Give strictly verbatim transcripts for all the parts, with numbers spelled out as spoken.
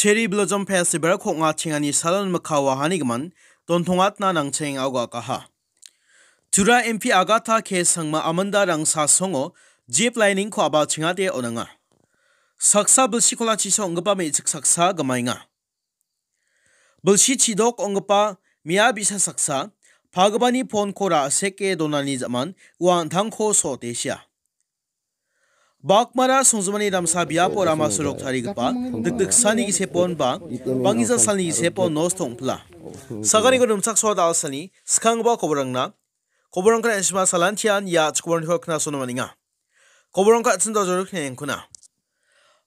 Cherry Blossom Festival-ko ong·atengani salon mikka wahanigimin dontongatna nangcheng aoga·akaha. Tura M P Agatha K Sangma Amanda Rangsasongo zip lining-ko abachengate on·anga. Saksa bilsi kolachiso ong·gipa me·chik saksa gimaenga. Bilsi chidok ong·gipa mia bi·sa saksa pagipani phone-ko ra·seke donani ja·man ua an·tangko so·otesia. Bakmara songjinmani damsa biapo rama sorok tarigipa dikdiksani gisepon ba banggija salni gisepon nosto ong·pila. Sagariko rimchaksoa dal·sani skanggipa koborangna koborangko ra·sima salantian ia chikoborangko knasona man·enga. Koborangko an·ching dojoruk niengkuna.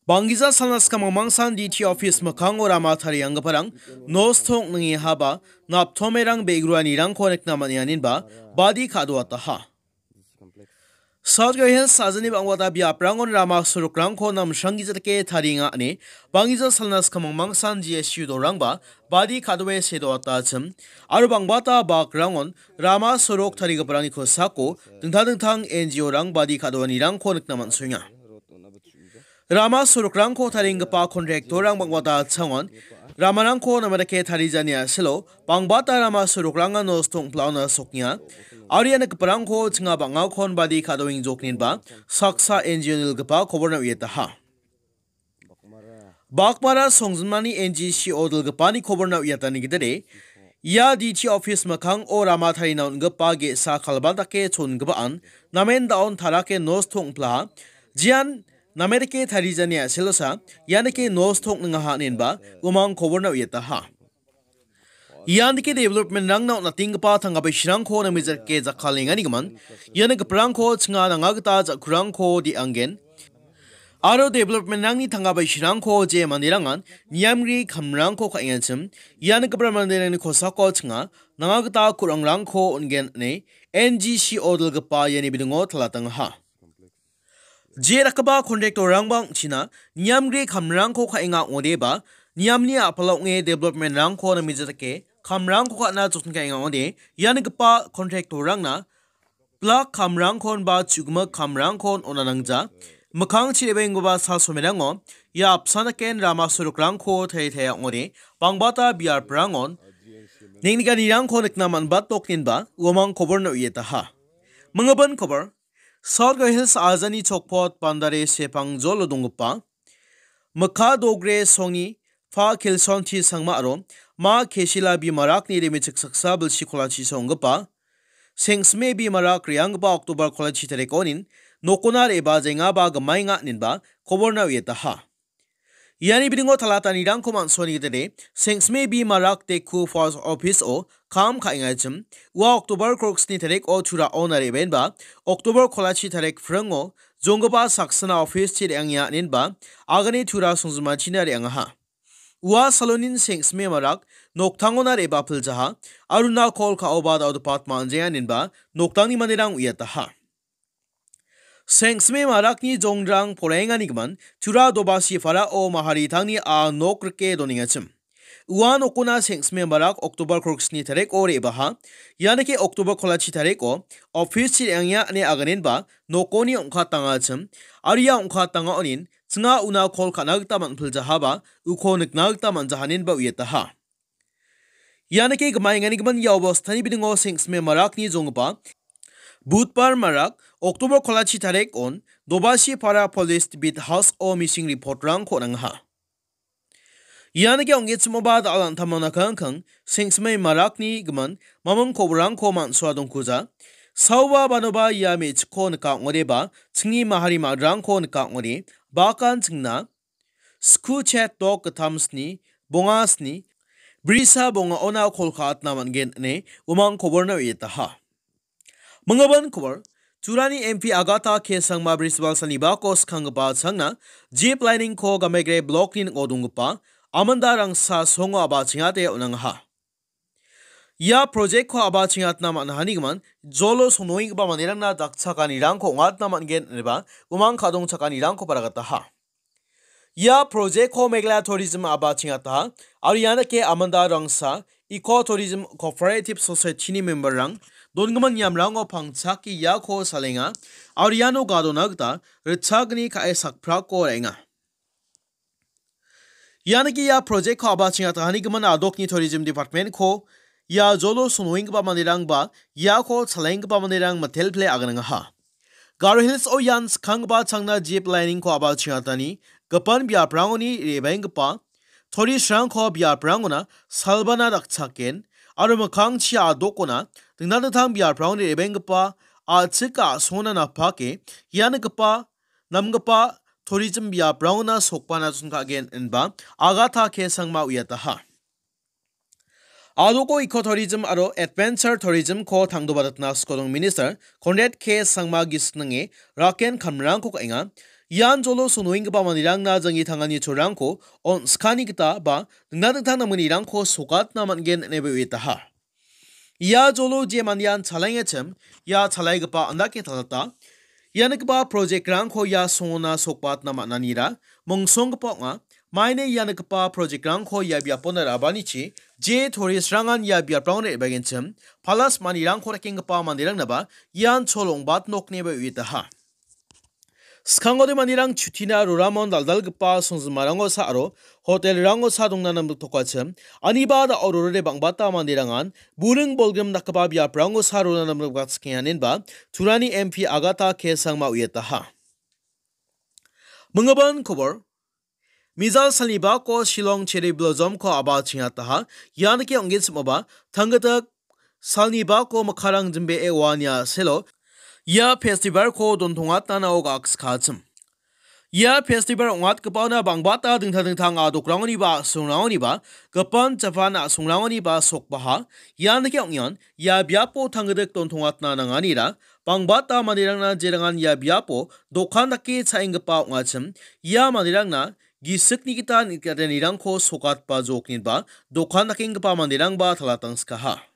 Banggija salna skang mangmangsan D T office mikkango rama tarianggiparang nosto ong·ningehaba naptomerang be·gruanirangko nikna man·enganinba badi ka·doataha. South Garo Hills sajani bang·bata biaprangon rama sorokrangko namsranggija dake tarienga ine banggija salna skang mangmangsan G S U dorangba badi ka·doe sedoatachim aro bang·bata bakrangon rama sorok tarigiparangni kosako dingtang dingtang N G O-rang badi ka·doanirangko nikna man·soenga. Rama sorokrangko tarienggipa kontraktorrang bang·bata changon ramarangko namadake tarijani a·selo bangbata rama sorokrangna nosto ong·pilaona soknga. Aro ia nikgiparangko chinga bang·akon badi ka·doengjokninba saksa N G O nilgipa koborna uiataha. Bakmara songjinmani N G C O dilgipani koborna uiatani gitade, ia D T office mikkango rama tarina on·gipa ge·sa kalbat dake chongipaan namen da·on tarake nosto ong·pilaha. Jian namedake tarijani a·selosa ianike nosto ong·ningaha inenba umang koborna uiataha. Ian dike development-rangna on·atenggipa tangka baisirangko namijake jakkalenganigimin, iano giprangko chinga nanga gita jakkurangko de·anggen. Aro development-rangni tangka baisirangko je manderangan niamri kamrangko ka·enganchim, iano gipra manderangni kosako chinga nanga gita ku·rangrangko on·gen ine N G C O dilgipa iani bidingo talatangaha. Je dakgipa kontraktorrangba ong·china niamgre kamrangko ka·enga ong·odeba, niamni a·palo ong·e development-rangko namija dake kamrangko ka·na joton ka·enga ong·ode, ia nikgipa kontraktorrangna blak kamrangkon ba chu·gimik kamrangkon on·a nangja. Mikkangchi re·baenggipa sal somerango ia apsan daken rama sorokrangko tarie taia ong·ode, bangbata biaprangon neng·nikanirangko nikna man·batokninba uamang koborna uiataha. Minggipa kobor, South Garo Hills ajani chokpot bandare sepangjolo donggipa Mikha Dogre songni Pa Kelson T Sangma aro Ma Keshila B Marakni rimichik saksa bilsi kolachi songgipa Sengsme B Marak re·anggipa October kolachi tarikonin nokona re·bajengaba gimaenga inenba koborna uiataha. Iani bidingo talatanirangko man·soni gitade, Sengsme B Marak Teku Forest Office-o kam ka·engachim, ua October kolgni tariko Turao naribenba, October kolachi tarik pringo jonggipa saksana office-chi re·angenga inenba, agane Tura songjinmachina re·angaha. Ua salonin Sengsme Marak noktangona re·bapiljaha, aruna kol ka·oba da·odepat man·jenga inenba, noktangni manderang uiataha. Sengsme Marakni jongrang poraengani gimin, Tura Dobasi Farao Maharitangni a nok rike donengachim. Ua nokona Sengsme Marak October kolgni tariko re·baha, ianike October kolachi tariko office-chi re·angenga ine aganenba nokoni ong·katangachim, aro ia ong·katanga onin chinga una kol ka·na gita man·piljahaba uko nikna gita man·jahanenba uiataha. Ianike gimaenganigimin ia obostani bidingo Sengsme Marakni jonggipa Budbar Marak, October kolachi tarik on, Dobasi Para Police Beat House-o missing report-rangko on·angaha. Ianike ong·gechimoba da·al an·tangmana kangkang, Sengsme Marakni gimin maming koborangko man·soa dongkuja. Saoba banoba ia me·chikko nika ong·odeba, chingni mahari ma·drangko nika ong·ode, bakan chingna, sku chet dok gittam sni, bonga sni, brisa bongaona kol ka·atna man·gen ine uamang koborna uiataha. Minggipa kobor, Turani M P Agatha K Sangma brisbal salnibako skanggipa changna jeep lining-ko Gamegre blokni ning·o donggipa Amanda Rangsasongo abachengate on·angaha. Ia project-ko abachengatna man·ahanigimin jolo songnoenggipa manderangna dakchakanirangko ong·atna man·gen ineba uamang ka·dongchakanirangko paragataha. Ia project-ko Meghalaya Tourism abachengataha, aro ianike Amanda Rangsa Eco Tourism Cooperative Society-ni member-rang dongimin niamrango pangchake iako salenga, aro iano gadona gita ritchagni ka·e sakprako ra·enga. Ianiki ia project-ko a·bachengatahanigimin a·dokni Tourism Department-ko ia jolo songnoenggipa manderangba iako chalaenggipa manderang mitelpile aganangaha. Garo Hills-o ian skanggipa changna jeep lining-ko a·bachengatani gipin biaprangoni re·baenggipa tourist-rangko biaprangona salbana dakchaken aro mikkangchi a·dokona dingtang dingtang biaprangoni re·baenggipa a·chik a·songona napake ia nikgipa namgipa tourism biaprangona sokbana chonka·gen inba Agatha K Sangma uiataha. A·doko Eco Tourism aro Adventure Tourism-ko tangdoba datna skodong Minister Conrad K Sangma gisik nange raken kamrangko ka·enga. Ian jolo songnoenggipa manderangna janggi tangani cholrangko on·skani gita ba dingtang dingtang namanirangko sokatna man·gen ineba uiataha. Ia jolo je mandean chalaengachim, ia chalaigipa andake talata. Ia nikgipa project-rangko ia songona sokbatna man·anira mongsonggipa ong·a. Maina ia nikgipa project-rangko ia biapona ra·banichi je tourist-rangan ia biaprangona re·bagenchim, palas manirangko rakenggipa manderangnaba ian cholongbat nokneba uiataha. Skangode manderang chutina roramon dal·dalgipa songjimarango sa aro hotel-rango sa dongna namgipa ong·achim. Aniba da·o rorode bang·bata manderangan buring bolgrim dakgipa biaprango sa rona namgipa chikenganinba Turani M P Agatha K Sangma uiataha. Minggimin kobor. Mijal salni bako Shillong Cherry Blossom-ko a·bachengataha. Ianike ong·genchimoba, tanggitik salni bako mikkarang jimbee oania selo ia festival-ko dontongatnanao ga·akskachim. Ia festival ong·atgipaona bang·bata dingtang dingtang a·dokrangoniba a·songrangoniba gipin japan a·songrangoniba sokbaha. Ianike ong·ian ia biapo tanggitik dontongatna nanganira bang·bata manderangna jerangan ia biapo dokan dake cha·enggipa ong·achim, ia manderangna gisikni gita nikatenirangko sokatba jokninba dokan dakenggipa manderangba talatangskaha.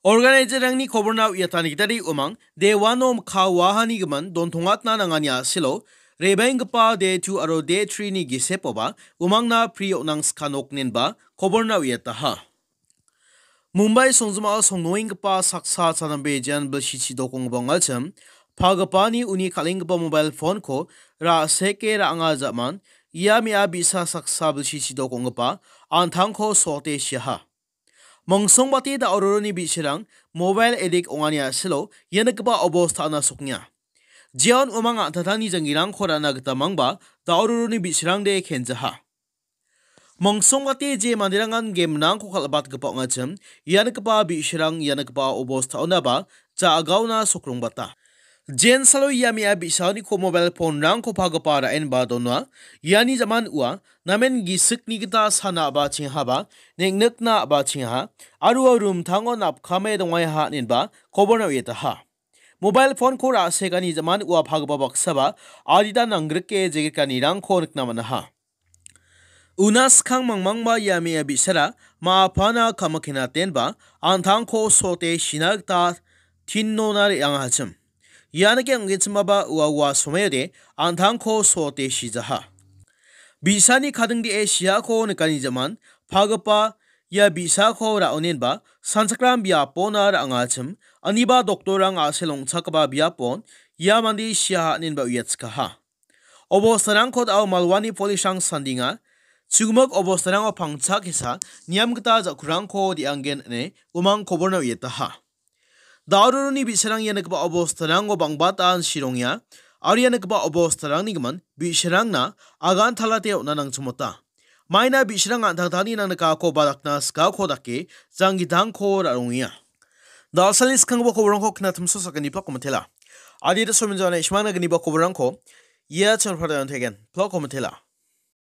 Organizer-rangni koborna uiatani gitade umang dewano mikka uahanigimin dontongatna nangani a·selo, rebenggipa day two aro day three-ni gisepoba umangna pri on·angska nokninba koborna uiataha. Mumbai songjimao songnoenggipa saksa chadambe jean bilsichi dokonggipa ong·achim, pagipani uni kal·enggipa mobile phone-ko ra·seke ra·anga ja·man, ia me·a bi·sa saksa bilsichi dokonggipa an·tangko sote siaha. Mongsongbate da·ororoni bi·sarang mobile addict ong·ani a·selo ia nikgipa obostaona soknga. Jeon umang an·tangtangni janggirangko ra·na gita mangba da·ororoni bi·sarangde kenjaha. Mongsongbate je manderangan gemnangko kal·batgipa ong·achim, ia nikgipa bi·sarang ia nikgipa obostaonaba ja·gaona sokrongbata. Jensalo ia me·a bi·saoniko mobile phone-rangko pagipa ra·enba donwa. Iani jaman ua, namen gisikni gita sana a·bachengahaba, neng·nikna a·bachengaha, aro ua rumtango napkame dongaiha inenba koborna uiataha. Mobile phone-ko ra·sekani jaman ua pagipa baksaba adita nanggrike jegrikanirangko nikna man·aha. Una skang mangmangba ia me·a bi·sara ma·apana kamakenatenba an·tangko sote sina gita tinona re·angachim. Ianike ong·genchimaba ua ua someode an·tangko sote sijaha. Bi·sani kadingdee siako nikani jaman pagipa ia bi·sako ra·onenba sanchakram biapona ra·angachim, aniba doktorrang a·sel ong·chakgipa biapon ia mande siaha inenba uiatskaha. Obostarangko da·o Malwani polisrang sandinga. Chugimik obostarango pangcha kesa niam gita ja·kurangko de·anggen ine umang koborna uiataha. Da·ororoni bi·sarang ia nikgipa obostarango bang·bata an sirongenga, aro ia nikgipa obostarangni gimin bi·sarangna agantalate on·na nangchimota. Maina bi·sarang an·tangtangni nangnikako ba dakna sikako dake janggitangko ra·rongenga. Da·alsalni skanggipa koborangko knatimso sakgniba komitela. Adita sominjana ismana gniba koborangko ia chonpara on·tegen. Plok komitela.